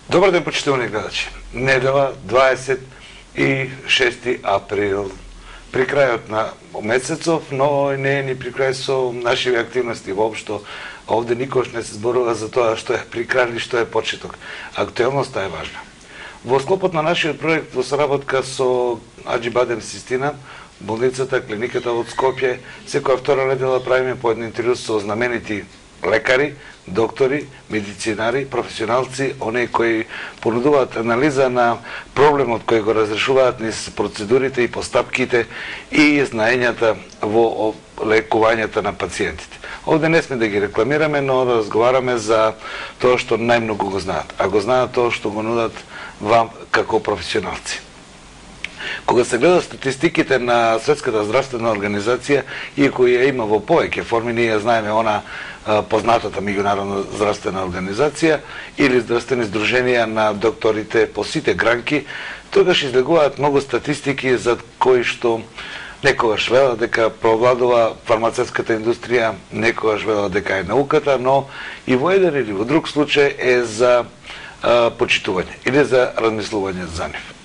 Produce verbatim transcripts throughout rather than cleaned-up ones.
Добар ден, почитувани гледачи. Недела, дваесет и шести април. При крајот на месецов, но не е ни при крај со нашите активности воопшто. Овде никош не се зборува за тоа што е при крај или што е почеток. Актуелноста е важна. Во склопот на нашиот проект во соработка со Аџибадем Систина, болницата, клиниката од Скопје, секоја втора недела правиме по еден интервју со знаменити лекари, доктори, медицинари, професионалци, оние кои понудуваат анализа на проблемот кој го разрешуваат низ процедурите и постапките и знаењата во лекувањето на пациентите. Овде не сме да ги рекламираме, но разговараме за тоа што најмногу го знаат, а го знаат тоа што го нудат вам како професионалци. Кога се гледа статистиките на Светската здравствена организација, иако ја има во повеќе форми, ние ја знаеме она познатата меѓународна здравствена организација или здравствени здруженија на докторите по сите гранки, тогаш излегуваат многу статистики за кои што некогаш велат дека провладува фармацевската индустрија, некогаш велат дека е науката, но и во еден или во друг случај е за а, почитување или за размислување за нив.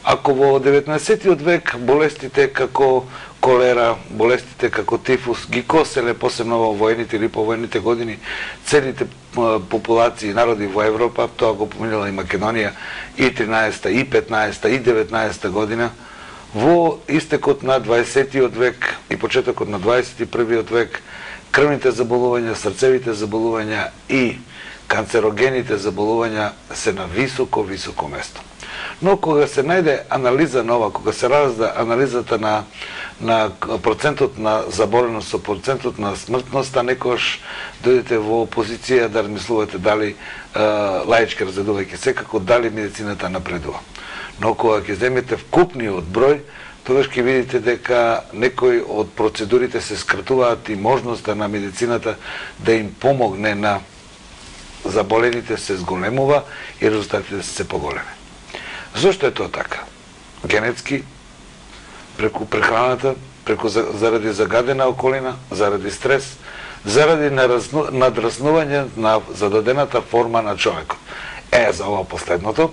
Ако во деветнаесеттиот век болестите како колера, болестите како тифус ги коселе посебно во воените или повоените години целите популации народи во Европа, тоа го поминала и Македонија и тринаесетта, и петнаесетта, и деветнаесетта година, во истекот на дваесеттиот век и почетокот на дваесет и првиот век крвните заболувања, срцевите заболувања и канцерогените заболувања се на високо, високо место. Но кога се најде анализа нова, кога се разда анализата на, на процентот на заболеност со процентот на смртноста, некош дојдете во позиција да размислувате дали, е, лаички разредувајќи секако, дали медицината напредува. Но кога ќе земете вкупниот број, тогаш ќе видите дека некои од процедурите се скратуваат и можноста на медицината да им помогне на заболените се зголемува и резултатите се поголеми. Зошто е тоа така? Генетски, преку прехраната, преку заради загадена околина, заради стрес, заради надраснување на зададената форма на човекот. Е, за ова последното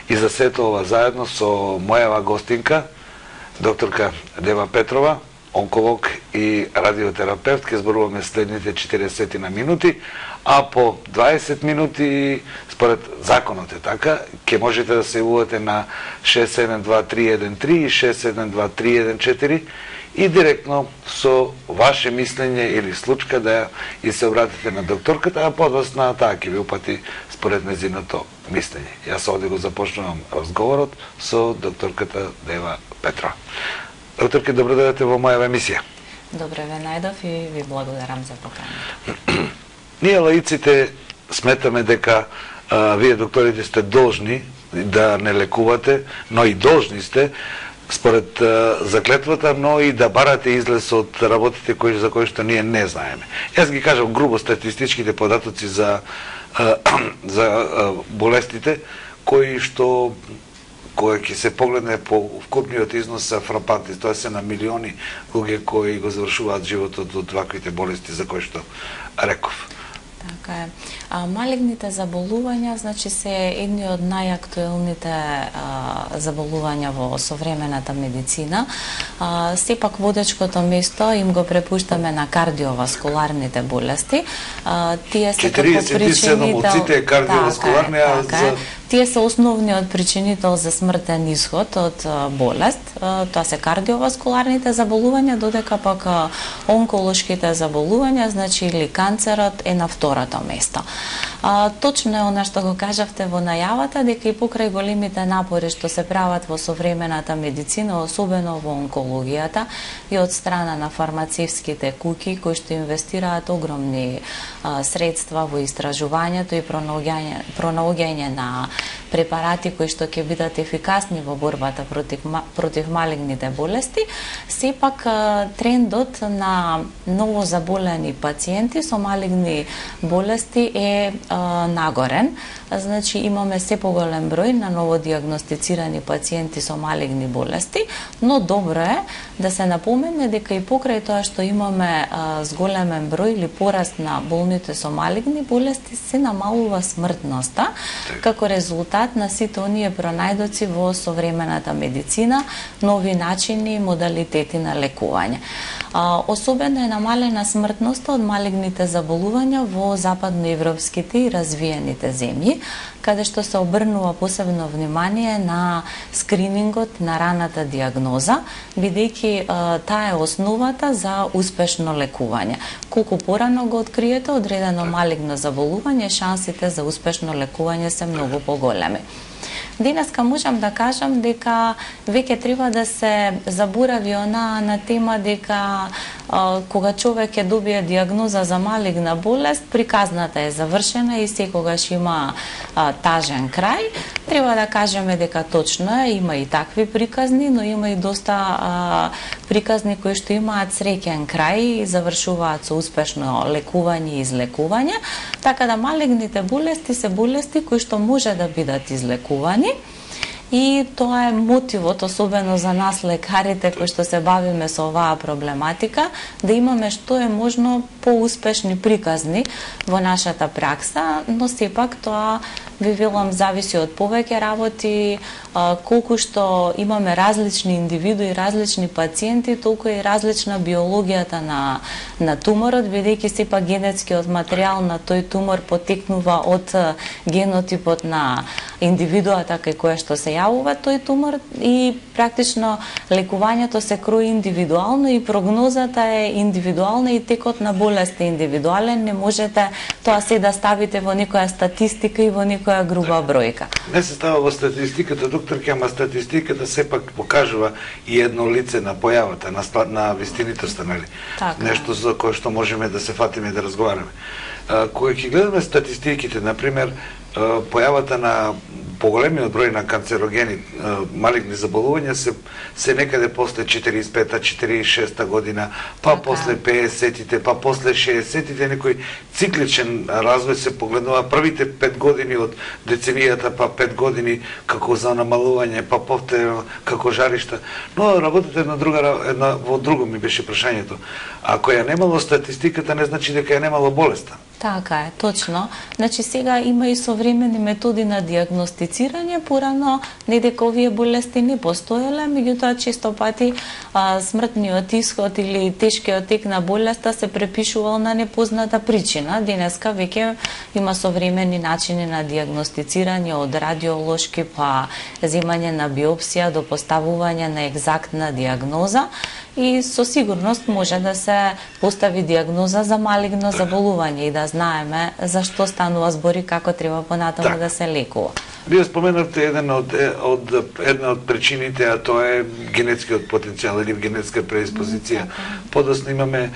и за сето ова заедно со мојава гостинка, докторка Дева Петрова, онколог и радиотерапевт, ке зборуваме следните четиресет на минути, а по дваесет минути, според законот е така, ке можете да се јавувате на шест седум два три еден три и шест седум два три еден четири и директно со ваше мислење или случка да и се обратите на докторката, а подоцна таа ќе ви упати според незиното мислење. Јас овде го започнувам разговорот со докторката Дева Петрова. Докторке, добро дојдете во мојава емисија. Добре ве најдов и ви благодарам за поканата. Ние лаиците сметаме дека а, вие докторите сте должни да не лекувате, но и должни сте според а, заклетвата, но и да барате излез од работите кои за кои што ние не знаеме. Јас ги кажам грубо статистичките податоци за а, за а, болестите кои што кој ќе се погледне по вкупниот износ са фрапанти, тоа се на милиони луѓе кои го завршуваат животот од ваквите болести за кои што реков. Така е. А, малигните заболувања, значи, се едни од најактуелните а, заболувања во современата медицина. А, сепак водечкото место им го препуштаме на кардиоваскуларните болести. А, тие се како причинител... од сите кардиоваскуларни, така е, така за... е. Тие се основниот причинител за смртен исход од а, болест. А, тоа се кардиоваскуларните заболувања, додека пак а, онколошките заболувања, значи или канцерот е на второто место. А, точно е она што го кажавте во најавата, дека и покрај големите напори што се прават во современата медицина, особено во онкологијата и од страна на фармацевските куќи кои што инвестираат огромни а, средства во истражувањето и пронаоѓање, пронаоѓање на препарати кои што ќе бидат ефикасни во борбата против, против малигните болести, сепак трендот на новозаболени пациенти со малигни болести е а, нагорен. значи имаме се поголем број на новодиагностицирани пациенти со малигни болести, но добро е да се напомене дека и покрај тоа што имаме а, зголемен број или пораст на болните со малигни болести, се намалува смртноста како резултат на сите оние пронајдоци во современата медицина, нови начини и модалитети на лекување. А, особено е намалена смртноста од малигните заболувања во западноевропските и развиените земји, каде што се обрнува посебно внимание на скринингот, на раната диагноза, бидејќи таа е основата за успешно лекување. Колку порано го откриете одредено малигно заболување, шансите за успешно лекување се многу поголеми. Денеска можам да кажам дека веќе треба да се заборави она на тема дека а, кога човек ќе добие диагноза за малигна болест, приказната е завршена и секогаш има а, тажен крај. Треба да кажеме дека точно е, има и такви приказни, но има и доста а, приказни кои што имаат среќен крај и завршуваат со успешно лекување и излекување, така да малигните болести се болести кои што може да бидат излекувани. И тоа е мотивот, особено за нас лекарите кои што се бавиме со оваа проблематика, да имаме што е можно поуспешни приказни во нашата пракса, но сепак тоа ви велам зависи од повеќе работи, колку што имаме различни индивидуи, различни пациенти, толку и различна биологијата на на туморот, бидејќи сепак генетскиот материјал на тој тумор потекнува од генотипот на индивидуата кај која што се јавува тој тумор и практично лекувањето се крои индивидуално и прогнозата е индивидуална и текот на болест е индивидуален, не можете тоа се да ставите во некоја статистика и во некоја груба бројка. Не се става во статистиката, докторке, ама статистиката сепак покажува и едно лице на појавата, на, на вистинитоста, нели? Така. Нешто за кое што можеме да се фатиме да разговараме. Кога ќе гледаме статистиките, например, појавата на поголемиот број на канцерогени малигни заболувања се се некаде после четириесет и пета четириесет и шеста година, па така. После педесетите, па после шеесетите, некој цикличен развој се погледнува првите пет години од деценијата, па пет години како за намалување, па повторно како жаришта. Но работите една друга една во друго ми беше прашањето. Ако ја немало статистиката, не значи дека ја немало болеста. Така е, точно. Значи сега има и современи методи на диагностицирање, порано не дека овие болести не постоеле, меѓутоа често пати а, смртниот исход или тешкиот тек на болеста се препишувал на непозната причина. Денеска веќе има современи начини на диагностицирање, од радиолошки па земање на биопсија до поставување на екзактна диагноза и со сигурност може да се постави диагноза за малигно заболување и да знаеме за што станува збори, како треба понатаму так. Да се лекува. Вие споменавте еден од, од, една од причините, а тоа е генетскиот потенцијал или генетска предиспозиција. Подоцна имаме е,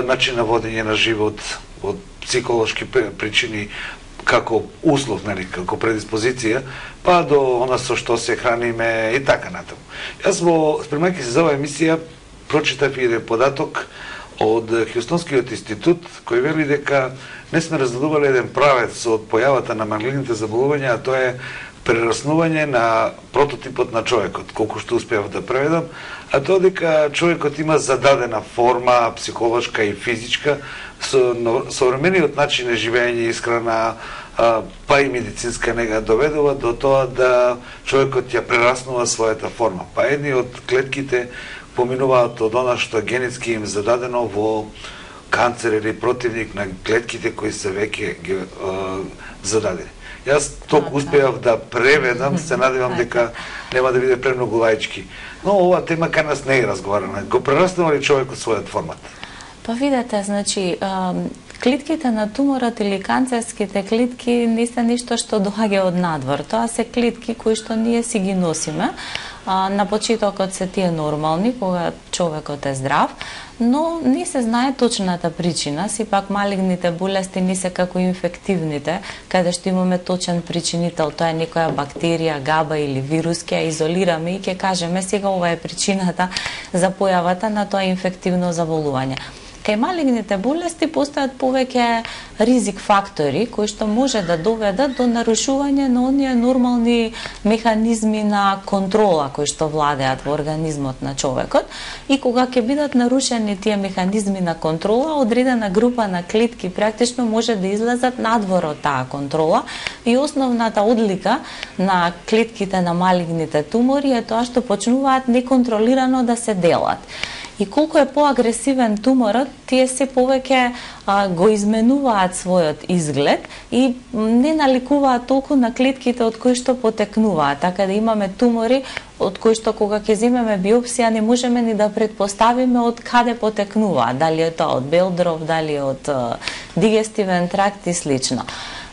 начин на водење на живот од психолошки причини, како услов, нели, како предиспозиција, па до она со што се храниме и така натаму. Јас во спремајќи се за оваа емисија прочитав и податок од Хјустонскиот институт, кој вели дека не сме разгледувале еден правец од појавата на малигните заболувања, а тоа е прераснување на прототипот на човекот, колку што успеав да преведам, а тоа дека човекот има зададена форма, психолошка и физичка, со современиот начин на живење, исхрана, па и медицинска нега доведува до тоа да човекот ја прераснува својата форма. Па едни од клетките поминуваат од она што генетски им зададено во канцер или противник на клетките кои се веќе ги зададени. Јас толку успеав да преведам, се надевам дека нема да биде премногу лаички. Но оваа тема кај нас не е разговарана. Го прераснува ли човекот својот формат? Па видете, значи, клетките на туморот или канцерските клетки не се ништо што доаѓа од надвор. Тоа се клетки кои што ние си ги носиме. На почетокот се тие нормални, кога човекот е здрав, но не се знае точната причина. Сепак малигните болести не се како инфективните, каде што имаме точен причинител, тоа е некоја бактерија, габа или вирус, ќе ја изолираме и ќе кажеме сега ова е причината за појавата на тоа инфективно заболување. Кај малигните болести постојат повеќе ризик фактори кои што може да доведат до нарушување на оние нормални механизми на контрола кои што владеат во организмот на човекот, и кога ќе бидат нарушени тие механизми на контрола, одредена група на клетки практично може да излезат надвор од таа контрола, и основната одлика на клетките на малигните тумори е тоа што почнуваат неконтролирано да се делат. И колку е поагресивен туморот, тие се повеќе а, го изменуваат својот изглед и не наликуваат толку на клетките од кои што потекнуваат. Така да имаме тумори од кои што кога ќе земеме биопсија не можеме ни да предпоставиме од каде потекнуваат, дали е тоа од белдров, дали од а, дигестивен тракт и слично.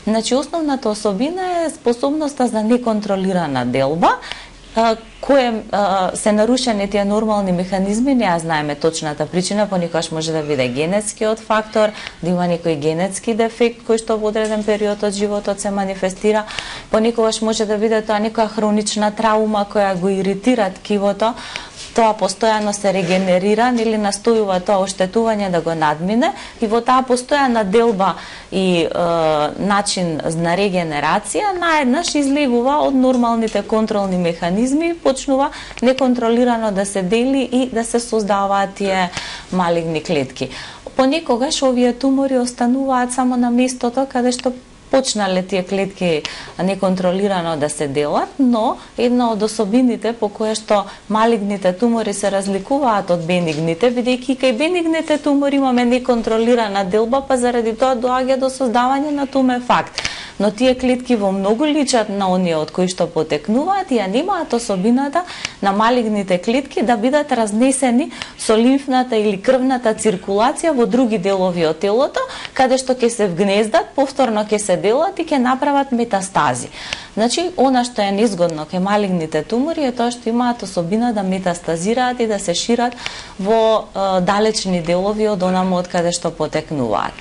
Значи, основната особина е способноста за неконтролирана делба, кој се нарушени тие нормални механизми, не ја знаеме точната причина, понекогаш може да биде генетскиот фактор, да има некој генетски дефект кој што во одреден период од животот се манифестира, понекогаш може да биде тоа некоја хронична траума која го иритира ткивото, тоа постојано се регенерира или настојува тоа оштетување да го надмине, и во таа постојана делба и е, начин на регенерација наеднаш излегува од нормалните контролни механизми и почнува неконтролирано да се дели и да се создаваат тие малигни клетки. Понекогаш овие тумори остануваат само на местото каде што почнале тие клетки неконтролирано да се делат, но една од особините по која што малигните тумори се разликуваат од бенигните, бидејќи кај бенигните тумори имаме неконтролирана делба, па заради тоа доаѓа до создавање на тумефакт. Но тие клетки во многу личат на оние од кои што потекнуваат и ја немаат особината на малигните клетки да бидат разнесени со лимфната или крвната циркулација во други делови од телото, каде што ќе се вгнездат, повторно ќе се делат и ќе направат метастази. Значи, она што е незгодно кај малигните тумори е тоа што имаат особина да метастазираат и да се шират во е, далечни делови од онаму од каде што потекнуваат.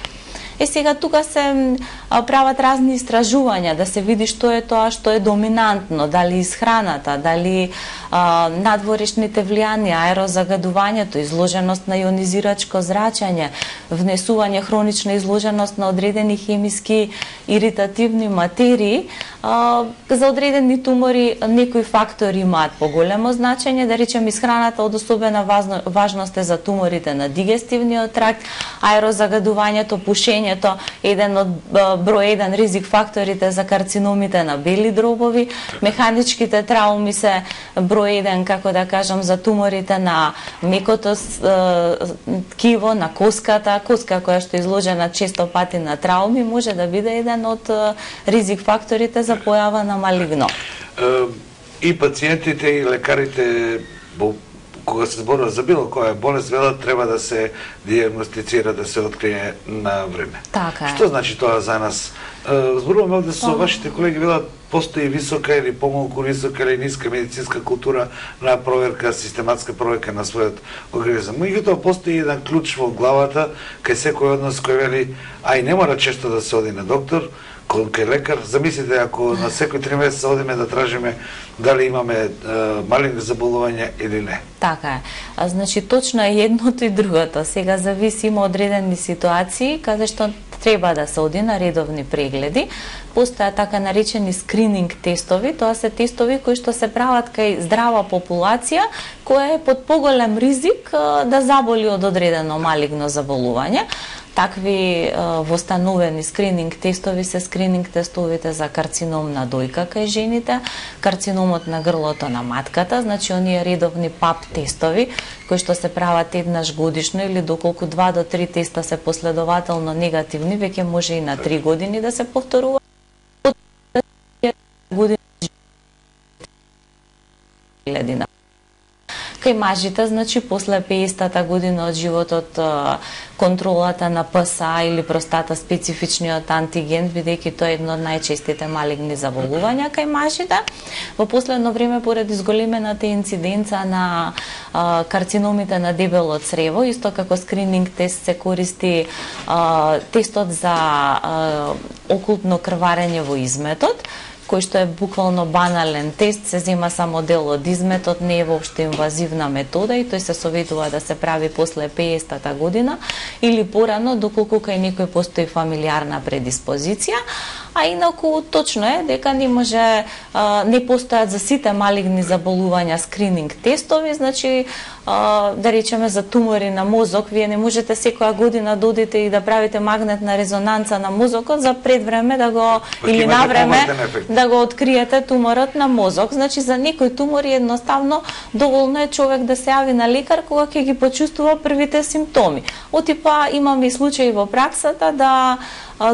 Е, сега тука се а, прават разни истражувања да се види што е тоа што е доминантно, дали исхраната, дали а, надворешните влијанија, аерозагадувањето, изложеност на ионизирачко зрачење, внесување хронична изложеност на одредени хемиски иритативни материи. А, за одредени тумори некои фактори имаат поголемо значење, да речем исхраната од особена важност е за туморите на дигестивниот тракт, аерозагадувањето, пушењето, еден од број еден ризик факторите за карциномите на бели дробови, механичките трауми се број еден, како да кажам, за туморите на мекото ткиво, на коската, коска која што е изложена често пати на трауми, може да биде еден од ризик факторите за појава на малигно. И пациентите и лекарите кога се зборува за било која болест, велат треба да се диагностицира, да се открие на време. Така е. Што значи тоа за нас? Зборуваме овде со вашите колеги, велат постои висока или помалку висока или ниска медицинска култура на проверка, систематска проверка на својот организам. Меѓутоа постои еден клjuč во главата кај секој од нас кој вели, ај не мора често да се оди на доктор, кај лекар. Замислите ако на секој три месеца одиме да тражиме дали имаме е, малигни заболувања или не. Така е. А, значи точно е едното и другото. Сега зависи, има одредени ситуации каде што треба да се оди на редовни прегледи. Постојат така наречени скрининг тестови, тоа се тестови кои што се прават кај здрава популација која е под поголем ризик да заболи од одредено малигно заболување. Такви востановени скрининг тестови се скрининг тестовите за карцином на дојка кај жените, карциномот на грлото на матката, значи оние редовни пап тестови кои што се прават еднаш годишно или доколку два до три теста се последователно негативни, веќе може и на три години да се повторува. Година. Кај мажите, значи, после пеесетата година од животот, контролата на ПСА или простата специфичниот антиген, бидејќи тоа е едно од најчестите малигни заболувања кај мажите. Во последно време, поради зголемената инциденца на а, карциномите на дебело црево, исто како скрининг тест се користи а, тестот за а, окултно крварење во изметот, кој што е буквално банален тест, се зема само дел од изметот, не е воопшто инвазивна метода и тој се советува да се прави после пеесетата година или порано, доколку кај некој постои фамилиарна предиспозиција. А инаку точно е дека не може, а, не постојат за сите малигни заболувања скрининг тестови, значи а, да речеме за тумори на мозок, вие не можете секоја година да одите и да правите магнетна резонанца на мозокот за пред време да го или на време да го откриете туморот на мозок. Значи за некои тумори едноставно доволно е човек да се јави на лекар кога ќе ги почувствува првите симптоми. Од типа имаме и случаи во праксата да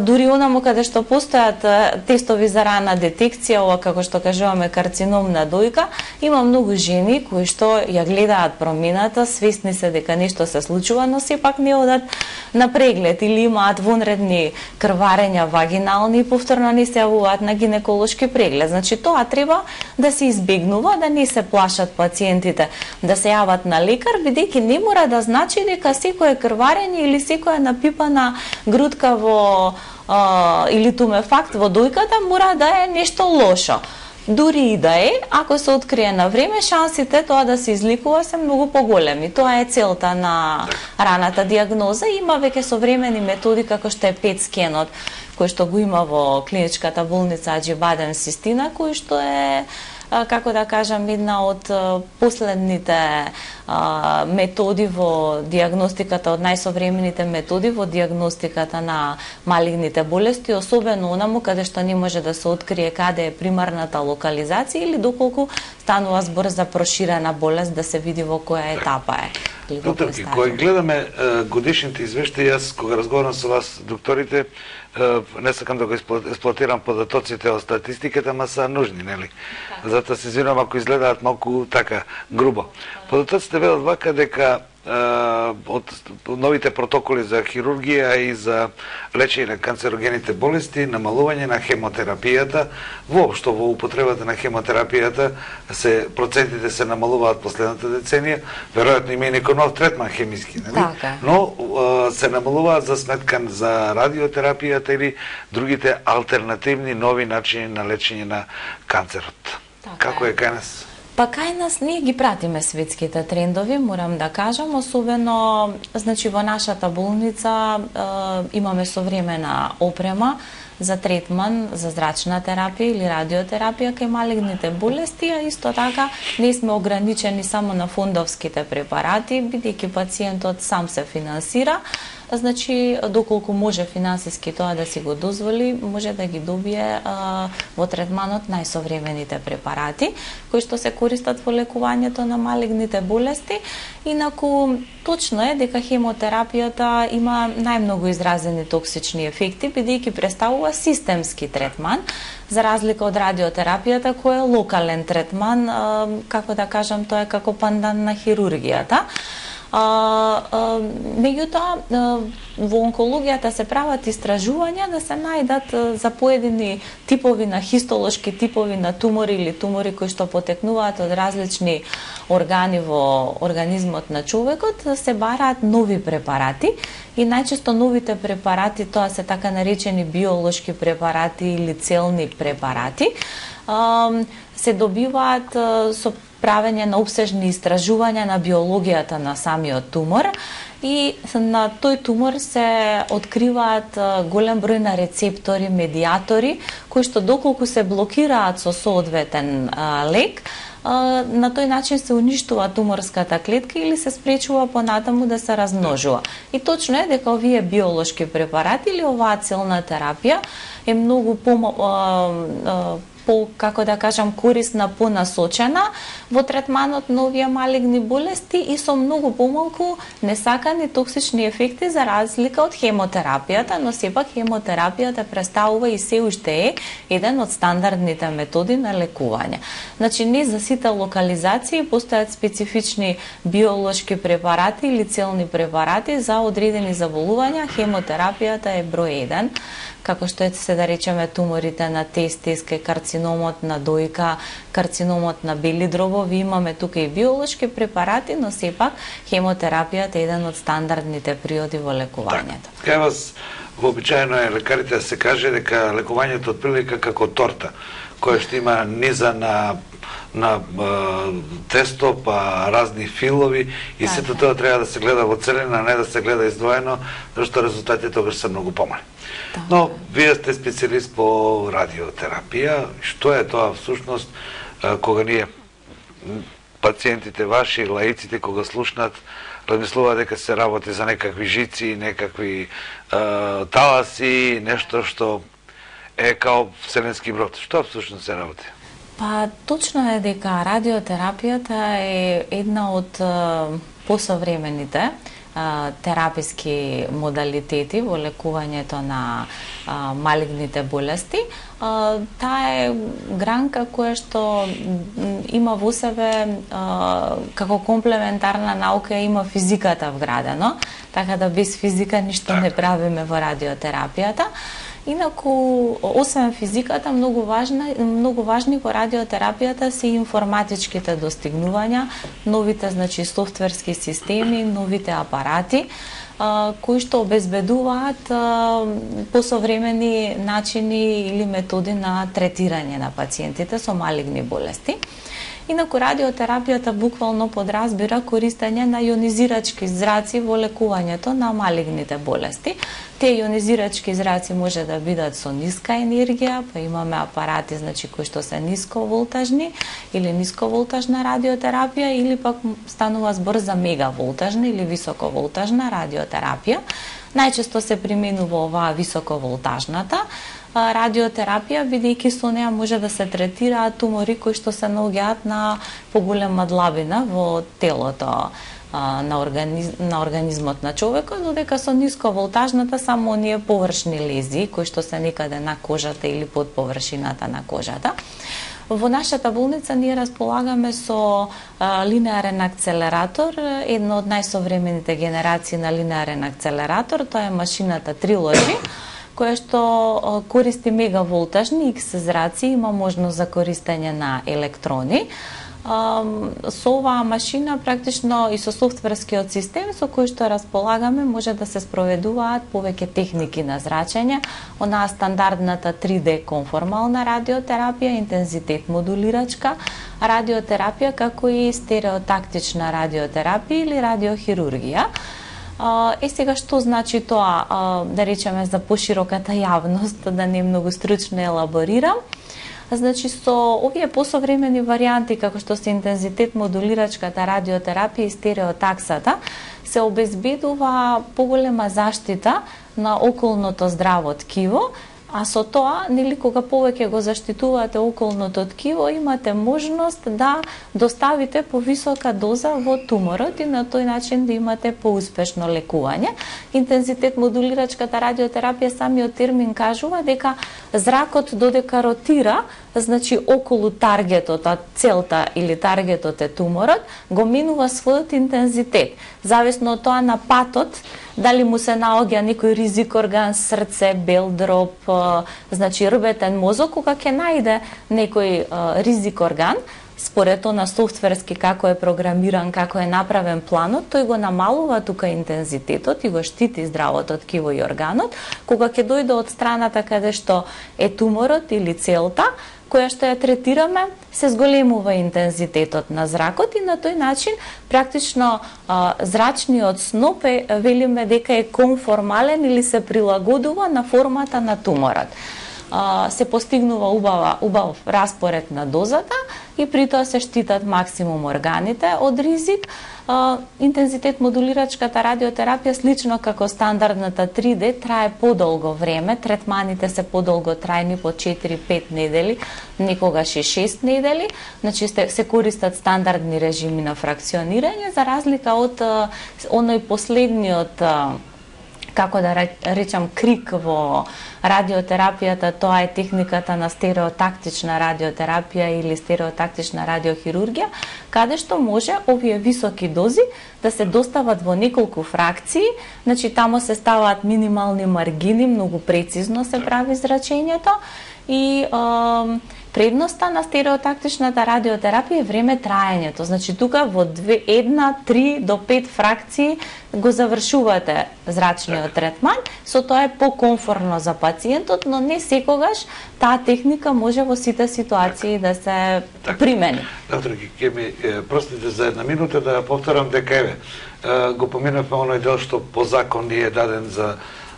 дури онаму каде што постојат тестови за рана детекција, ова како што кажуваме карцином на дојка, има многу жени кои што ја гледаат промената, свесни се дека нешто се случува, но сепак не одат на преглед или имаат вонредни крварења вагинални и повторно не се јавуваат на гинеколошки преглед. Значи тоа треба да се избегнува, да не се плашат пациентите да се јават на лекар, бидејќи не мора да значи дека секое крварење или секоја напипана грудка во Uh, или тумефакт во дојката мора да е нешто лошо. Дури и да е, ако се открие на време, шансите тоа да се изликува се многу поголеми. Тоа е целта на раната диагноза. Има веќе современи методи како што е пет скенот, кој што го има во клиничката болница Аџибаден Систина, кој што е како да кажам, една од последните а, методи во диагностиката, од најсовремените методи во диагностиката на малигните болести, особено онаму каде што не може да се открие каде е примарната локализација или доколку станува збор за проширена болест, да се види во која етапа е. Докторки, кога гледаме годишните извештаи, јас кога разговарам со вас, докторите, не сакам да го експлоатирам податоците од статистиката, ма са нужни, нели? Затоа се извинувам ако изгледаат малку така грубо. Податоците велат вака дека од новите протоколи за хирургија и за лечење на канцерогените болести, намалување на хемотерапијата, воопшто во употребата на хемотерапијата се процентите се намалуваат последната деценија, веројатно има и некој нов третман хемиски, нели? Така. Но се намалуваат за сметка за радиотерапијата или другите алтернативни нови начини на лечење на канцерот. Така Како е е кај нас? Па кај нас ние ги пратиме светските трендови, морам да кажам, особено значи во нашата болница е, имаме современа опрема за третман за зрачна терапија или радиотерапија кај малигните болести, а исто така не сме ограничени само на фондовските препарати, бидејќи пациентот сам се финансира. Значи, доколку може финансиски тоа да си го дозволи, може да ги добие а, во третманот најсовремените препарати, кои што се користат во лекувањето на малигните болести. Инаку, точно е дека хемотерапијата има најмногу изразени токсични ефекти, бидејќи представува системски третман, за разлика од радиотерапијата, кој е локален третман, а, како да кажам, тоа е како пандан на хирургијата. А, а, меѓутоа, во онкологијата се прават истражувања да се најдат за поедини типови на хистолошки типови на тумори или тумори кои што потекнуваат од различни органи во организмот на човекот, се бараат нови препарати и најчесто новите препарати, тоа се така наречени биолошки препарати или целни препарати, се добиваат со правење на обсежни истражувања на биологијата на самиот тумор и на тој тумор се откриваат голем број на рецептори, медиатори, кои што доколку се блокираат со соодветен лек, на тој начин се уништува туморската клетка или се спречува понатаму да се размножува. И точно е дека овие биолошки препарати или оваа целна терапија е многу по по, како да кажам, корисна, понасочена во третманот на овие малигни болести и со многу помалку несакани токсични ефекти за разлика од хемотерапијата, но сепак хемотерапијата представува и се уште е еден од стандардните методи на лекување. Значи, не за сите локализации постојат специфични биолошки препарати или целни препарати за одредени заболувања, хемотерапијата е број еден, како што е се да речеме туморите на тестис, карциномот на дојка, карциномот на бели дробови, имаме тука и биолошки препарати, но сепак хемотерапијата е еден од стандардните приоди во лекувањето. Така, кај вас вообичаено е лекарите да се каже дека лекувањето од прилика како торта, која што има низа на на а, тесто, па разни филови и так, сето тоа треба да се гледа во целина, а не да се гледа издвоено, зашто резултатите тогаш се многу помали. Так. Но вие сте специјалист по радиотерапија. Што е тоа всушност кога ние пациентите ваши, лаиците кога слушнат, размислуваат дека се работи за некакви жици, некакви е, таласи, нешто што е као вселенски брод. Што всушност се работи? Па точно е дека радиотерапијата е една од посовремените тераписки модалитети во лекувањето на а, малигните болести. А, таа е гранка која што има во себе а, како комплементарна наука има физиката вградено, така да без физика ништо не правиме во радиотерапијата. Инаку, освен физиката, многу важна, многу важни во радиотерапијата се информатичките достигнувања, новите, значи, софтверски системи, новите апарати, а, кои што обезбедуваат а, посовремени начини или методи на третирање на пациентите со малигни болести. Инаку радиотерапијата буквално подразбира користење на јонизирачки зраци во лекувањето на малигните болести. Тие јонизирачки зраци може да бидат со ниска енергија, па имаме апарати, значи, кои што се нисковолтажни или нисковолтажна радиотерапија, или пак станува збор за мегаволтажна или високоволтажна радиотерапија. Најчесто се применува оваа високоволтажната радиотерапија, бидејќи со неа може да се третираат тумори кои што се наоѓаат на поголема длабина во телото на, организ... на организмот на човекот, додека со нисковолтажната само оние површни лезии кои што се некаде на кожата или под површината на кожата. Во нашата болница ние располагаме со а, линеарен акцелератор, една од најсовремените генерации на линеарен акцелератор, тоа е машината Trilogy, која што користи мегаволтажни икс зраци, има можност за користење на електрони. Со оваа машина практично и со софтверскиот систем со кој што располагаме може да се спроведуваат повеќе техники на зрачење, онаа стандардната три Д конформална радиотерапија, интензитет модулирачка радиотерапија, како и стереотактична радиотерапија или радиохирургија. Е, сега, што значи тоа, да речеме, за пошироката јавност, да не многу стручно елаборирам? Значи, со овие посовремени варијанти, како што се интензитет модулирачката радиотерапија и стереотаксата, се обезбедува поголема заштита на околното здраво ткиво, а со тоа, нели, кога повеќе го заштитувате околното ткиво, имате можност да доставите повисока доза во туморот и на тој начин да имате поуспешно лекување. Интензитет модулирачката радиотерапија, самиот термин кажува дека зракот додека ротира, значи околу таргетот, а целта или таргетот е туморот, го минува својот интензитет. Зависно од тоа на патот, дали му се наоѓа некој ризик орган, срце, бел дроб, значи рбетен мозок, кога ќе најде некој ризик орган, според тоа на софтверски како е програмиран, како е направен планот, тој го намалува тука интензитетот и го штити здравото ткиво и органот. Кога ќе дојде од страната каде што е туморот или целта, која што ја третираме, се зголемува интензитетот на зракот и на тој начин практично а, зрачниот сноп е, велиме дека е конформален или се прилагодува на формата на туморот. А, се постигнува убава, убав распоред на дозата и при тоа се штитат максимум органите од ризик. Uh, интензитет модулирачката радиотерапија, слично како стандардната три Д, трае подолго време, третманите се подолго трајни, по четири-пет недели, некогаш и шест недели, значи се користат стандардни режими на фракционирање, за разлика од uh, оној последниот, uh, како да речам, крик во радиотерапијата, тоа е техниката на стереотактична радиотерапија или стереотактична радиохирургија, каде што може овие високи дози да се достават во неколку фракции, значи тамо се ставаат минимални маргини, многу прецизно се прави зрачењето и е, Предноста на стереотактичната радиотерапија е време траењето. Значи тука во две, една, три до пет фракции го завршувате зрачниот третман, со тоа е покомфорно за пациентот, но не секогаш таа техника може во сите ситуации да се так, примени. Доктор, ќе ми простите за една минута да повторам дека еве го поминавме оној дел што по закон ни е даден за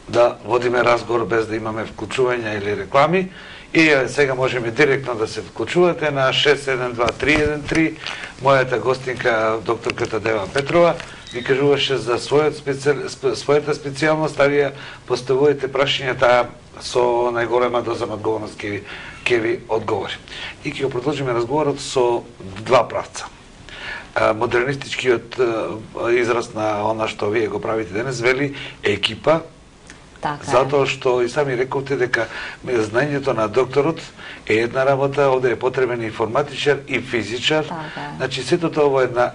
да водиме разговор без да имаме вклучувања или реклами. И сега можеме директно да се вклучувате на шест седум два три еден три. Мојата гостинка, докторката Дева Петрова, ви кажуваше за својот специ... својата специјалност, а вие поставувате прашањата со најголема доза на одговорност ќе ви, ќе ви одговори. И ќе го продолжиме разговорот со два правца. Модернистичкиот израз на она што вие го правите денес вели екипа, така е. Затоа што и сами рековте дека знаењето на докторот е една работа, овде е потребен информатичар и физичар. Така. Значи сето тоа во една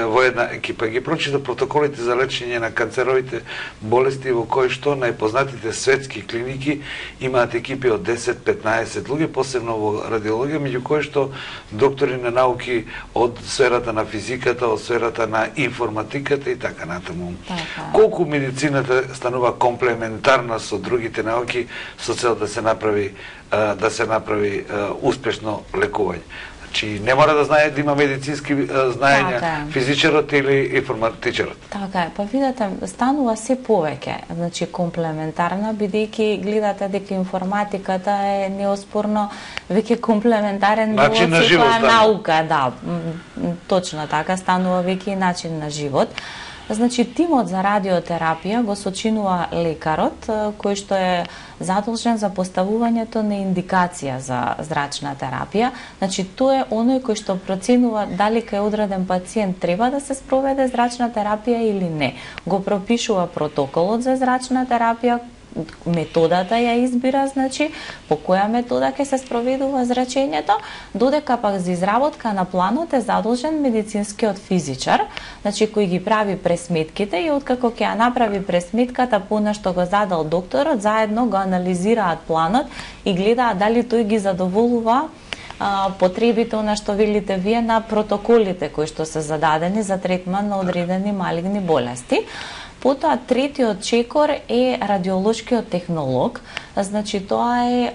во една екипа. Ги прочита протоколите за лечење на канцеровите болести во кои што најпознатите светски клиники имаат екипи од десет до петнаесет луѓе, посебно во радиологија, меѓу кои што доктори на науки од сферата на физиката, од сферата на информатиката и така натаму. Така. Колку медицината станува комплементарна со другите науки со цел да се направи да се направи успешно лекување. Значи не мора да знае да има медицински знаења така, физичарот или информатичарот. Така е, па видете, станува се повеќе, значи комплементарна, бидејќи гледате дека информатиката е неоспорно веќе комплементарен дел начин на од живот, секоја наука, да, точно така, станува веќе начин на живот. Значи, тимот за радиотерапија го сочинува лекарот, кој што е задолжен за поставувањето на индикација за зрачна терапија. Значи, тој е оној кој што проценува дали кај одреден пациент треба да се спроведе зрачна терапија или не. Го пропишува протоколот за зрачна терапија, методата ја избира, значи, по која метода ќе се спроведува зрачењето, додека пак за изработка на планот е задолжен медицинскиот физичар, значи, кој ги прави пресметките и откако ќе ја направи пресметката по она што го задал докторот, заедно го анализираат планот и гледаат дали тој ги задоволува а, потребите, она што велите вие, на протоколите кои што се зададени за третман на одредени малигни болести. Потоа третиот чекор е радиолошкиот технолог, значи тоа е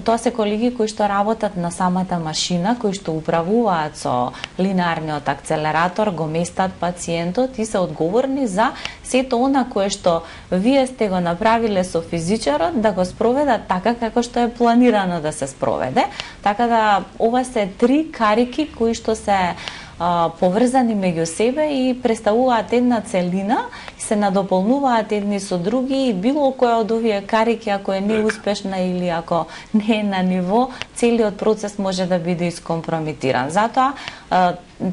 тоа се колеги кои што работат на самата машина, кои што управуваат со линеарниот акцелератор, го местат пациентот и се одговорни за сето она кое што вие сте го направиле со физичарот да го спроведат така како што е планирано да се спроведе. Така да ова се три карики кои што се поврзани меѓу себе и представуваат една целина и се надополнуваат едни со други и било која од овие карики ако е неуспешна или ако не е на ниво, целиот процес може да биде искомпрометиран. Затоа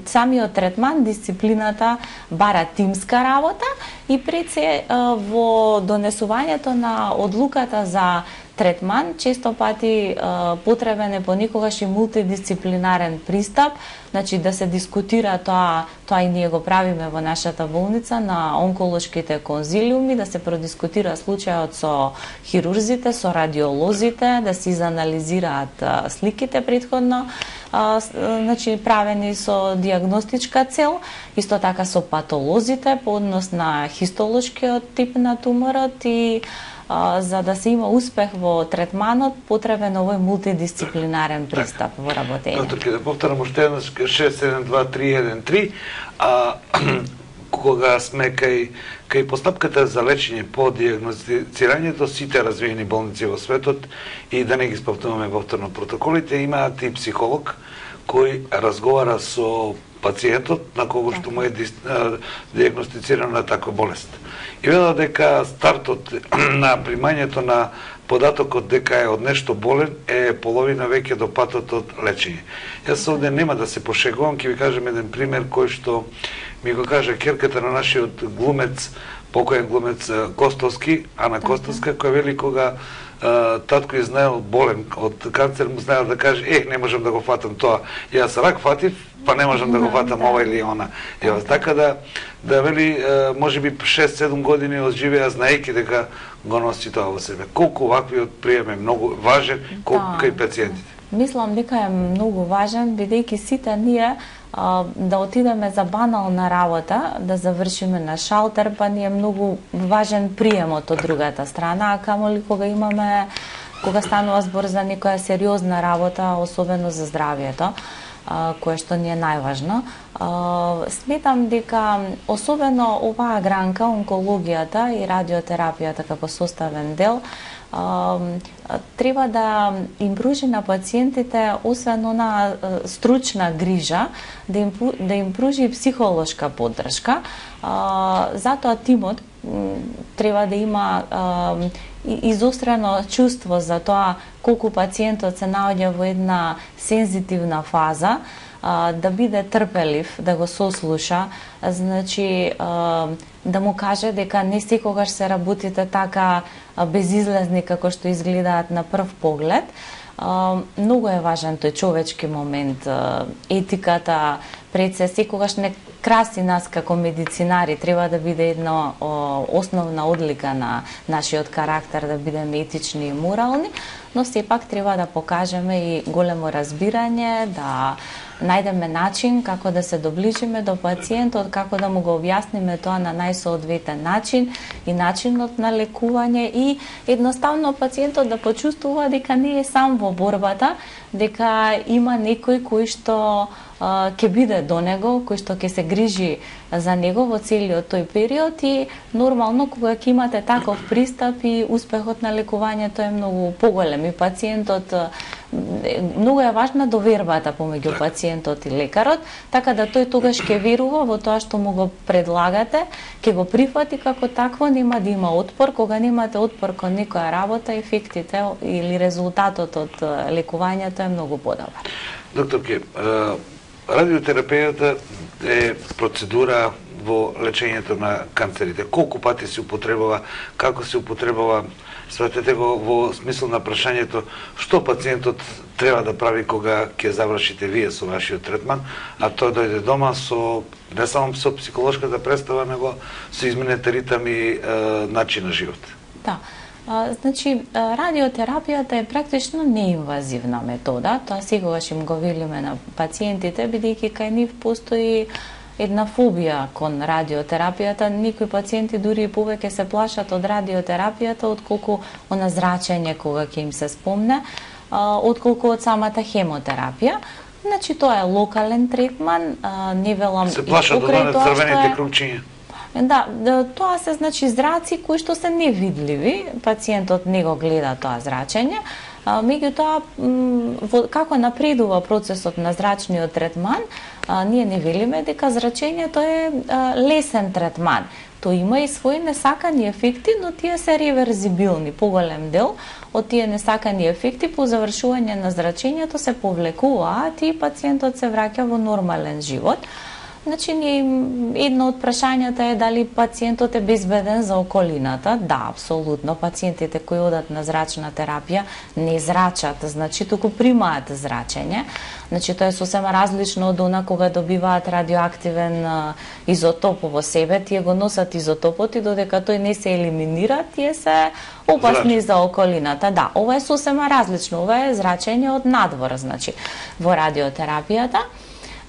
самиот третман, дисциплината бара тимска работа и пред се во донесувањето на одлуката за третман, често пати потребен е понекогаш и мултидисциплинарен пристап, значи да се дискутира тоа, тоа и ние го правиме во нашата болница на онколошките конзилиуми, да се продискутира случајот со хирурзите, со радиолозите, да се изанализираат сликите претходно, а, значи правени со диагностичка цел, исто така со патолозите по однос на хистолошкиот тип на туморот и а, за да се има успех во третманот, потребен овој мултидисциплинарен пристап во работење. Доктор, ќе да повторам уште еднаш шест седум два три еден три, а кога сме кај кај постапката за лечење по диагностицирањето, сите развиени болници во светот, и да не ги спомнуваме повторно протоколите, имаат и психолог кој разговара со пациентот на кого што му е диагностицирана таква болест. И веда дека стартот на примањето на податокот дека е од нешто болен е половина веќе до патот од лечење. Јас овде нема да се пошегувам, ќе ви кажем еден пример кој што ми го кажа керката на нашиот глумец, покоен глумец Костовски, Ана Костовска, која вели кога татко е знаел болен од канцер, му знаел да каже, ех, не можам да го фатам тоа. Јас рак фатив, па не можам да го фатам ова или она. Јас, така да, да вели, може би шест седум години одживеа знаејќи дека го носи тоа во себе. Колку ваквиот прием е многу важен, колку кај пациентите. мислам дека е многу важен, бидејќи сите ние а, да отидеме за банална работа, да завршиме на шалтер, па ни е многу важен приемот од другата страна, а камоли кога имаме, кога станува збор за некоја сериозна работа, особено за здравието, а, кое што ни е најважно. А, сметам дека особено оваа гранка, онкологијата и радиотерапијата како составен дел, Uh, треба да им пружи на пациентите освен она стручна грижа, да им, да им пружи и психолошка поддршка. Uh, затоа тимот треба да има uh, изострено чувство за тоа колку пациентот се наоѓа во една сензитивна фаза, uh, да биде трпелив, да го сослуша, значи uh, да му каже дека не секогаш се работите така безизлезни како што изгледаат на прв поглед. Многу е важен тој човечки момент, етиката, пред се секогаш не краси нас како медицинари, треба да биде една основна одлика на нашиот карактер, да бидеме етични и морални, но сепак треба да покажеме и големо разбирање, да најдеме начин како да се доближиме до пациентот, како да му го објасниме тоа на најсоодветен начин и начинот на лекување и едноставно пациентот да почувствува дека не е сам во борбата, дека има некој кој што ќе биде до него, кој што ќе се грижи за него во целиот тој период и нормално кога ќе имате таков пристап и успехот на лекувањето е многу поголем и пациентот, многу е важна довербата помеѓу пациентот и лекарот, така да тој тогаш ќе верува во тоа што му го предлагате, ќе го прифати како такво, нема да има отпор. Кога немате отпор кон некоја работа, ефектите или резултатот од лекувањето е многу подобар. Докторке, радиотерапијата е процедура во лечењето на канцерите. Колку пати се употребува, како се употребува, сватете го во смисол на прашањето што пациентот треба да прави кога ќе завршите вие со вашиот третман, а тој дојде дома со не само со психолошката представа, него со изменете ритам и е, начин на живот. Да. А, значи, радиотерапијата е практично неинвазивна метода, тоа секогаш им го велиме на пациентите, бидејќи кај нив постои една фобија кон радиотерапијата. Никои пациенти дури и повеќе се плашат од радиотерапијата отколку она зрачење кога ќе им се спомне, отколку од самата хемотерапија. Значи, тоа е локален третман, не велам се плашат од оние црвените крупчиња. Да, тоа се значи зраци кои што се невидливи, пациентот не го гледа тоа зрачење. Меѓутоа, како напредува процесот на зрачниот третман, ние не велиме дека зрачењето е лесен третман. Тој има и своји несакани ефекти, но тие се реверзибилни. Поголем дел од тие несакани ефекти по завршување на зрачењето се повлекуваат и пациентот се враќа во нормален живот. Значи, едно од прашањата е дали пациентот е безбеден за околината. Да, апсолутно. Пациентите кои одат на зрачна терапија не зрачат, значи туку примаат зрачење. Значи, тоа е сосема различно од она кога добиваат радиоактивен изотоп во себе, тие го носат изотопот и додека тој не се елиминира, тие се опасни за околината. Да, ова е сосема различно. Ова е зрачење од надвор, значи, во радиотерапијата.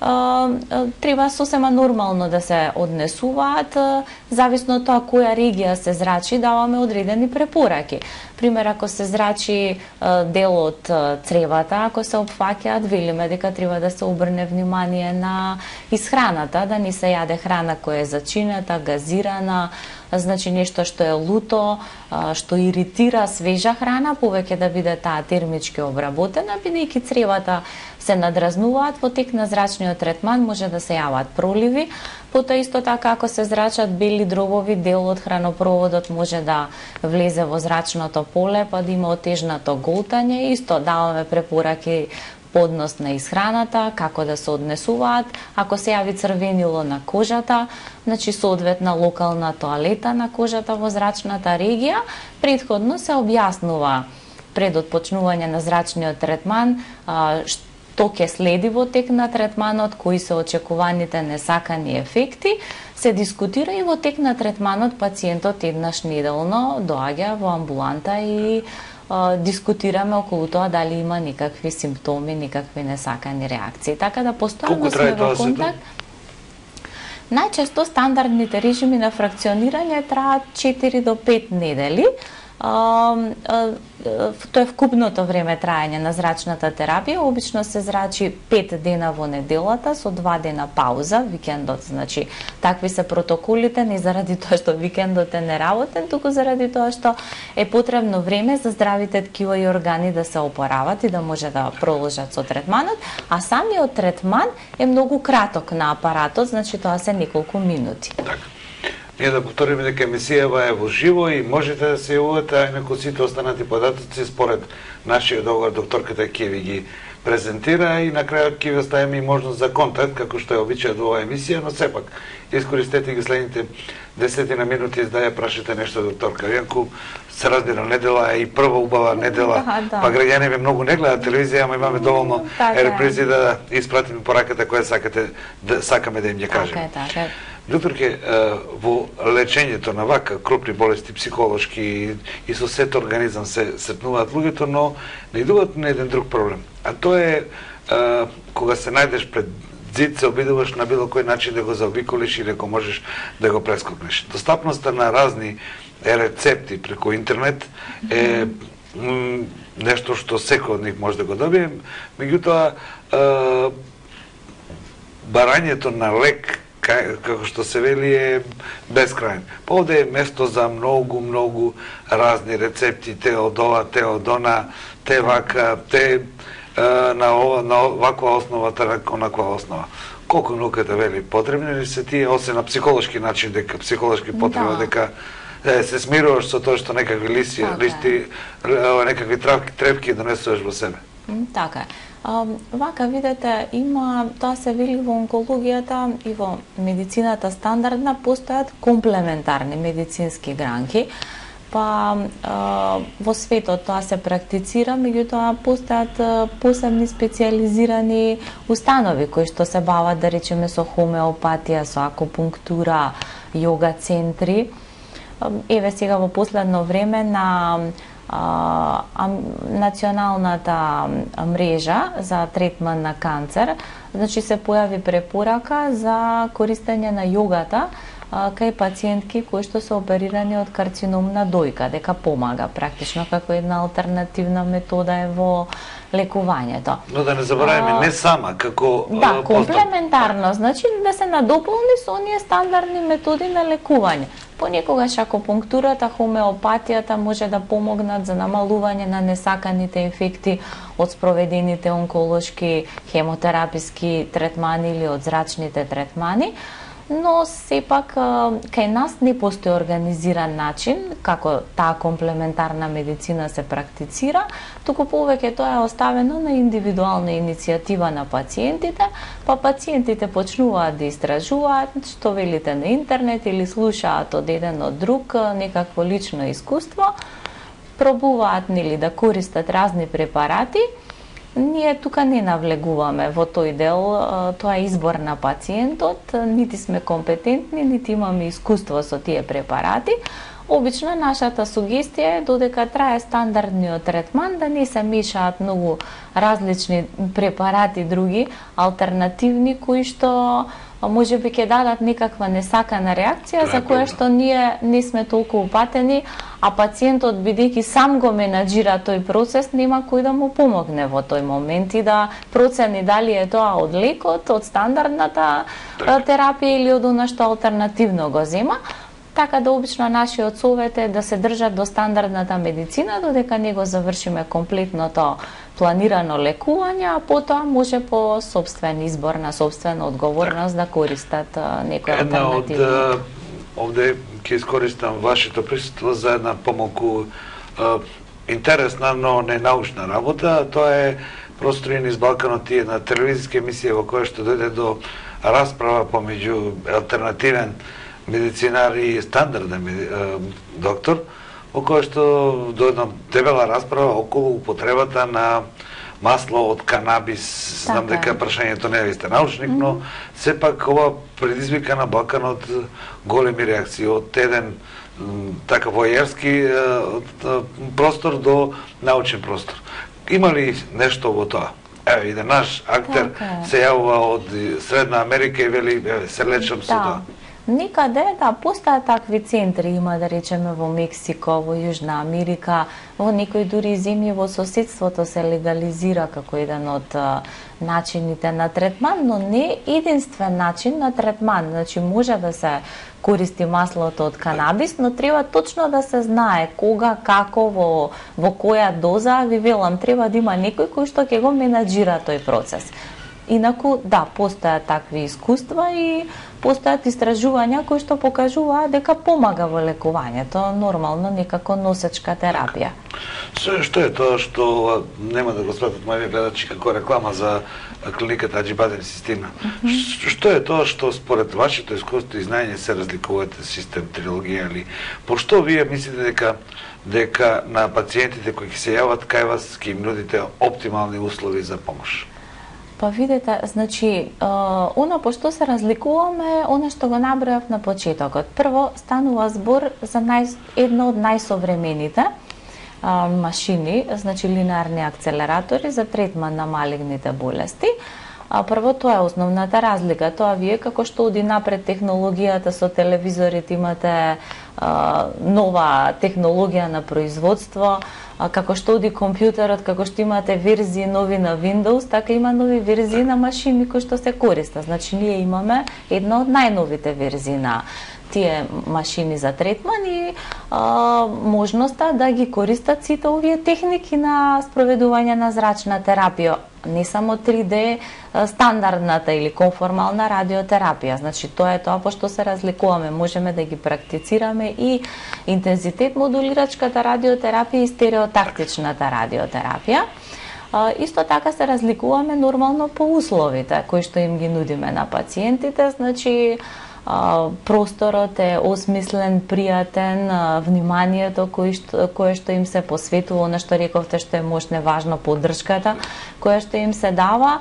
Uh, треба сосема нормално да се однесуваат, uh, зависно од тоа која регија се зрачи, даваме одредени препораки. Пример, ако се зрачи uh, дел од uh, цревата, ако се опфаќаат, велиме дека треба да се обрне внимание на исхраната, да не се јаде храна која е зачинета, газирана, значи нешто што е луто, што иритира, свежа храна, повеќе да биде таа термички обработена, бидејќи цревата се надразнуваат во тек на зрачниот третман, може да се јават проливи. Потоа исто така ако се зрачат бели дробови, дел од хранопроводот може да влезе во зрачното поле, па да има отежнато голтање. Исто даваме препораки поднос на исхраната, како да се однесуваат. Ако се јави црвенило на кожата, значи соодветна локална тоалета на кожата во зрачната регија, претходно се објаснува пред отпочнување на зрачниот третман што ќе следи во тек на третманот, кои се очекуваните несакани ефекти, се дискутира и во тек на третманот пациентот еднаш неделно доаѓа во амбуланта и дискутираме околу тоа дали има никакви симптоми, никакви несакани реакции. Така да постојано сме во контакт. Најчесто стандардните режими на фракционирање траат четири до пет недели. Uh, uh, uh, тоа е вкупното време траење на зрачната терапија. Обично се зрачи пет дена во неделата со два дена пауза, викендот. Значи, такви се протоколите, не заради тоа што викендот е неработен, туку заради тоа што е потребно време за здравите ткива и органи да се опорават и да може да продолжат со третманот, а самиот третман е многу краток на апаратот, значи тоа се неколку минути. Так. Ние да повториме дека емисијава е во живо и можете да се јавувате, а инаку сите останати податоци според нашиот договор докторката ќе ви ги презентира и на крајот ќе ви оставиме и можност за контакт, како што е обичајот во оваа емисија, но сепак искористете ги следните десетина минути за да ја прашате нешто докторка. Иако се разбира, недела е и прва убава недела, да, да. Па граѓани многу не гледаат телевизија, ама имаме доволно така репризи да испратиме пораката која сакате да сакаме да им ја кажеме. Така е, така е. Докторке, во лечењето на вака крупни болести, психолошки и со сет организам се сретнуваат луѓето, но наидуваат на еден друг проблем. А тоа е кога се најдеш пред зид, се обидуваш на било кој начин да го заобиколиш или ако можеш да го прескокнеш. Достапноста на разни рецепти преку интернет е нешто што секој од нив може да го добие. Меѓутоа, барањето на лек, како што се вели, е безкрајен. Па овде е место за многу, многу разни рецепти, те од ова, те од она, те вака, те на, ова, на ваква основа, те на онаква основа. Колку науката вели, потребни ли се тие, освен на психолошки начин, дека психолошки потреба, да. Дека е, се смируваш со тоа што некакви листи, така листи некакви трепки, трепки донесуваш во себе. Така е. А, вака, видете, има, тоа се вели во онкологијата и во медицината стандардна, постојат комплементарни медицински гранки, па а, во светот тоа се практицира, меѓутоа постојат посебни специализирани установи кои што се бават, да речеме, со хомеопатија, со акупунктура, јога центри. Еве сега во последно време на а, а, националната мрежа за третман на канцер, значи се појави препорака за користење на јогата а, кај пациентки кои што се оперирани од карцином на дојка, дека помага практично како една алтернативна метода е во лекувањето. Но да не забораваме, а, не сама, како да, комплементарно, значи да се надополни со оние стандардни методи на лекување. Понекогаш акупунктурата, хомеопатијата може да помогнат за намалување на несаканите ефекти од спроведените онколошки, хемотераписки третмани или од зрачните третмани, но сепак кај нас не постои организиран начин како таа комплементарна медицина се практицира, туку повеќе тоа е оставено на индивидуална иницијатива на пациентите, па пациентите почнуваат да истражуваат што велите на интернет или слушаат од еден од друг некакво лично искуство, пробуваат нели да користат разни препарати. Ние тука не навлегуваме во тој дел, тоа е избор на пациентот, нити сме компетентни, нити имаме искуство со тие препарати. Обично нашата сугестија е додека трае стандардниот третман да не се мешаат многу различни препарати други, алтернативни кои што може би ќе дадат некаква несакана реакција за која што ние не сме толку упатени, а пациентот бидејќи сам го менаџира тој процес, нема кој да му помогне во тој момент и да процени дали е тоа од лекот, од стандардната терапија или од она што алтернативно го зема. Така да обично нашиот совет е да се држат до стандардната медицина додека не го завршиме комплетното планирано лекување, а потоа може по собствен избор на собствена одговорност да користат некои алтернативи. Една од овде ќе искористам вашето присуство за една помалку интересна, но не научна работа. Тоа е Простори низ Балканот и една телевизиска емисија во која што дојде до расправа помеѓу алтернативен медицинар и стандарден доктор, во која што до една дебела расправа околу употребата на масло од канабис, знам дека прашањето не е сте научник, но сепак ова предизвика на Балканот големи реакции од еден така војерски простор до научен простор. Има ли нешто во тоа? Ево, и да наш актер се јавува од Средна Америка и вели, се лечам со тоа. Никаде, да, постојат такви центри, има да речеме во Мексико, во Јужна Америка, во некои дури земји во соседството се легализира како еден од начините на третман, но не единствен начин на третман. Значи може да се користи маслото од канабис, но треба точно да се знае кога, како, во, во која доза, ви велам, треба да има некој кој што ќе го менаџира тој процес. Инаку, да, постојат такви искуства и постојат истражувања кои што покажуваат дека помага во лекувањето, нормално некако носечка терапија. Што е тоа што нема да го сватат мои гледачи како реклама за клиниката Аџибаден Систина? Mm -hmm. Што е тоа што според вашето искуство и знаење се разликувате систем трилогија или пошто вие мислите дека дека на пациентите кои ќе се јават кај вас ќе им нудите оптимални услови за помош? Па видете, значи, оно по што се разликуваме, оно што го набројав на почетокот. Прво, станува збор за нај, едно од најсовремените а, машини, значи линеарни акцелератори за третман на малигните болести. А, прво, тоа е основната разлика. Тоа вие, како што оди напред технологијата со телевизорите, имате а, нова технологија на производство, а, како што оди компјутерот, како што имате верзии нови на Windows, така има нови верзии на машини кои што се користат. Значи, ние имаме една од најновите верзии на тие машини за третман и а, можноста да ги користат сите овие техники на спроведување на зрачна терапија, не само три Д стандардната или конформална радиотерапија. Значи тоа е тоа по што се разликуваме, можеме да ги практицираме и интензитет модулирачката радиотерапија и стереотактичната радиотерапија. А, исто така се разликуваме нормално по условите кои што им ги нудиме на пациентите, значи просторот е осмислен, пријатен, вниманието кое што, кое што им се посветува, она што рековте што е можне важно, поддршката која што им се дава,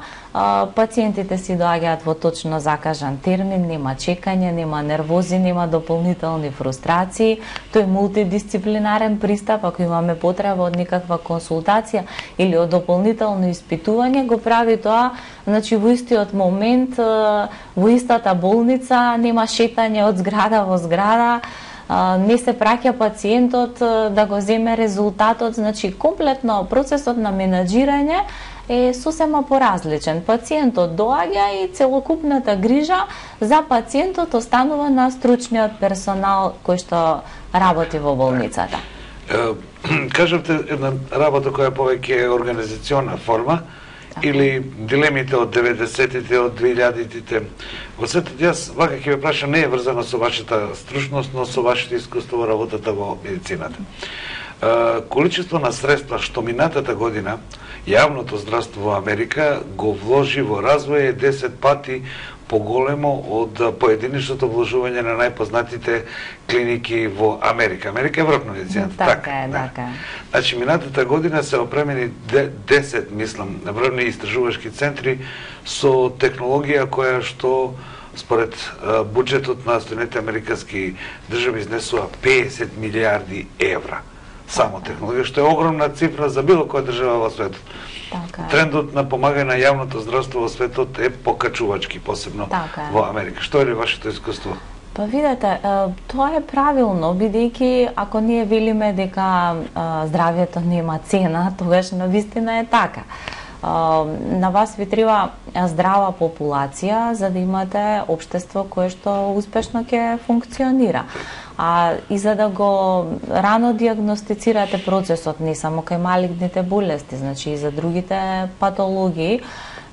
пациентите си доаѓаат во точно закажан термин, нема чекање, нема нервози, нема дополнителни фрустрации, тој мултидисциплинарен пристап, ако имаме потреба од никаква консултација или од дополнително испитување, го прави тоа, значи во истиот момент, во истата болница, нема шетање од зграда во зграда, не се праќа пациентот да го земе резултатот, значи комплетно процесот на менаџирање е сосема поразличен. Пациентот доаѓа и целокупната грижа за пациентот останува на стручниот персонал кој што работи во болницата. Кажавте една работа која повеќе е организациона форма, или дилемите од деветдесетите, од двилјадитите. Во светот, јас вака ќе ве прашам, не е врзано со вашата стручност, но со вашето искуство во работата во медицината. Количество на средства што минатата година јавното здравство во Америка го вложи во развој е десет пати поголемо од поединичното вложување на најпознатите клиники во Америка. Америка е врв на медицината. Така е, така е. Значи, минатата година се опремени десет, мислам, врвни истражувачки центри со технологија која што според буџетот на Соединетите американски држави изнесува педесет милијарди евра. Само технологија, што е огромна цифра за било која држава во светот. Така. Трендот на помагање на јавното здравство во светот е покачувачки, посебно така во Америка. Што е ли вашето искуство? Па видете, тоа е правилно, бидејќи ако ние велиме дека здравјето нема цена, тогаш навистина е така. На вас ви треба здрава популација за да имате општество кое што успешно ќе функционира. А и за да го рано диагностицирате процесот, не само кај малигните болести, значи и за другите патологии,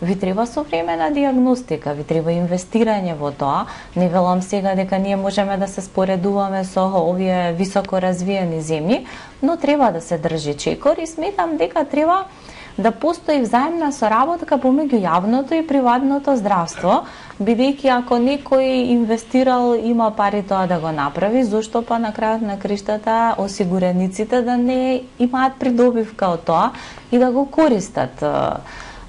ви треба современа диагностика, ви треба инвестирање во тоа. Не велам сега дека ние можеме да се споредуваме со овие високо развиени земји, но треба да се држи чекор и сметам дека треба да постои взаимна соработка помеѓу јавното и приватното здравство, бидејќи ако некој инвестирал, има пари тоа да го направи, зошто па на крајот на криштата осигурениците да не имаат придобивка од тоа и да го користат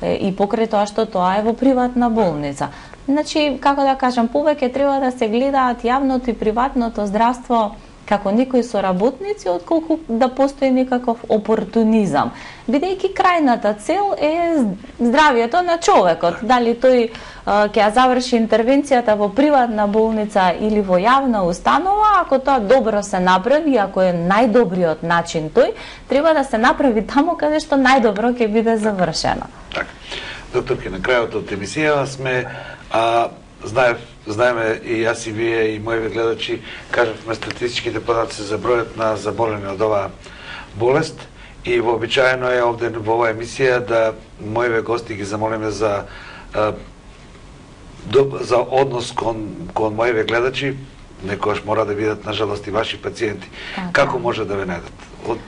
и покрај тоа што тоа е во приватна болница. Значи, како да кажам, повеќе треба да се гледаат јавното и приватното здравство како некои соработници, отколку да постои некаков опортунизам. Бидејќи крајната цел е здравието на човекот. Дали тој ќе ја заврши интервенцијата во приватна болница или во јавна установа, ако тоа добро се направи, ако е најдобриот начин тој, треба да се направи таму каде што најдобро ќе биде завршено. Така. Докторки, на крајот од емисија сме а, знаев, знаеме и јас и вие и моите гледачи кажавме статистичките податоци за бројот на заболени од оваа болест и вообичаено е овде во оваа емисија да моите гости ги замолиме за а, за однос кон кон моите гледачи, некојаш мора да бидат нажалост и ваши пациенти. Така. Како може да ве најдат? Од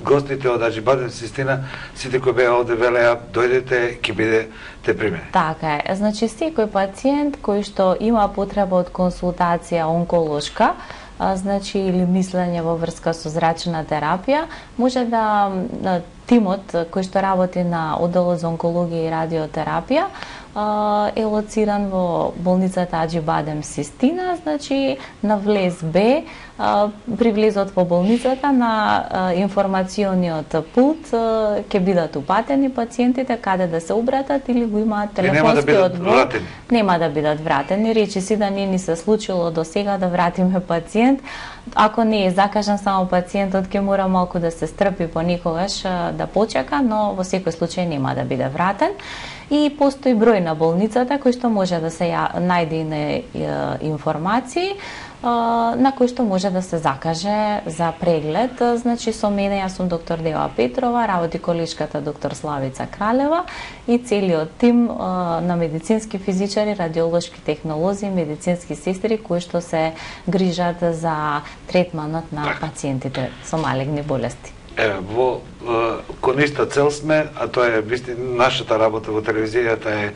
гостите од Аџибадем Систина, сите кои беа овде велеа, дојдете, ќе бидете примени. Така е. Значи, секој пациент кој што има потреба од консултација онколошка, а, значи или мислење во врска со зрачна терапија, може да тимот кој што работи на одделот за онкологија и радиотерапија е лоциран во болницата Аџибадем Систина, значи на влез Б, при влезот во болницата на информациониот пулт ќе бидат упатени пациентите каде да се обратат или го имаат телефонски одбор. Нема да бидат вратени. Речи си да не ни се случило до сега да вратиме пациент. Ако не е закажан само пациентот, ќе мора малку да се стрпи понекогаш да почека, но во секој случај нема да биде вратен. И постои број на болницата кој што може да се најде на информации на кој што може да се закаже за преглед. Значи со мене јас сум доктор Дева Петрова, работи колешката доктор Славица Кралева и целиот тим на медицински физичари, радиолошки технолози, медицински сестри кои што се грижат за третманот на пациентите со малигни болести. Еве, во кон иста цел сме, а тоа е вистин, нашата работа во телевизијата е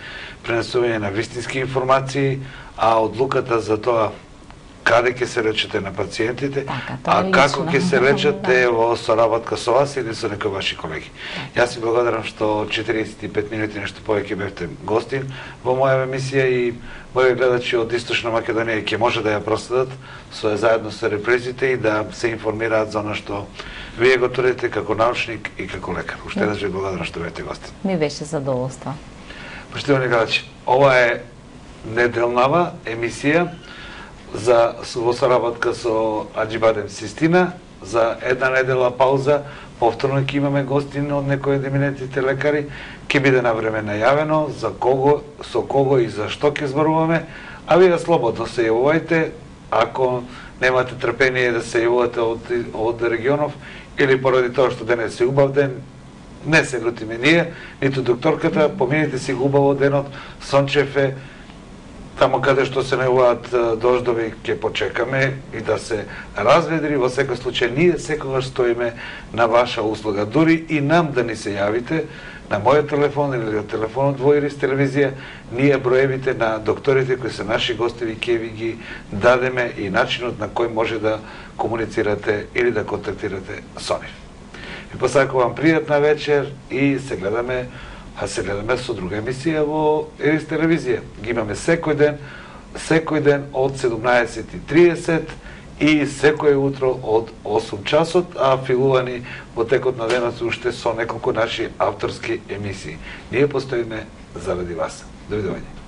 пренесување на вистински информации, а одлуката за тоа каде ќе се лечите на пациентите, така, а како ќе се лечите во соработка со вас или со некои ваши колеги. Јас ви благодарам што четириесет и пет минути нешто повеќе бевте гостин во моја емисија и мои гледачи од Источна Македонија ќе може да ја проследат со заедно со репризите и да се информираат за она што вие го трудите како научник и како лекар. Уште еднаш ви благодарам што бевте гостин. Ми беше задоволство. Поштовани гледачи, ова е неделнава емисија за во соработка со Аџибадем Систина, за една недела пауза, повторно ќе имаме гостин од некои од еминентите лекари, ќе биде на време најавено за кого, со кого и за што ќе зборуваме, а вие слободно се јавувајте, ако немате трпение да се јавувате од, од регионов, или поради тоа што денес е убав ден, не се лутиме ние, ниту докторката, поминете си го убаво денот, сончев е, таму каде што се најавуваат дождови ќе почекаме и да се разведри. Во секој случај ние секогаш стоиме на ваша услуга. Дури и нам да ни се јавите на мојот телефон или на телефонот во Ирис телевизија, ние броевите на докторите кои се наши гостеви ќе ви ги дадеме и начинот на кој може да комуницирате или да контактирате со нив. Ви посакувам пријатна вечер и се гледаме а се гледаме со друга емисија во Ерис телевизија. Ги имаме секој ден, секој ден од седумнаесет и триесет и секој утро од осум часот, а филувани во текот на денот уште со неколку наши авторски емисии. Ние постоиме заради вас. Довидување.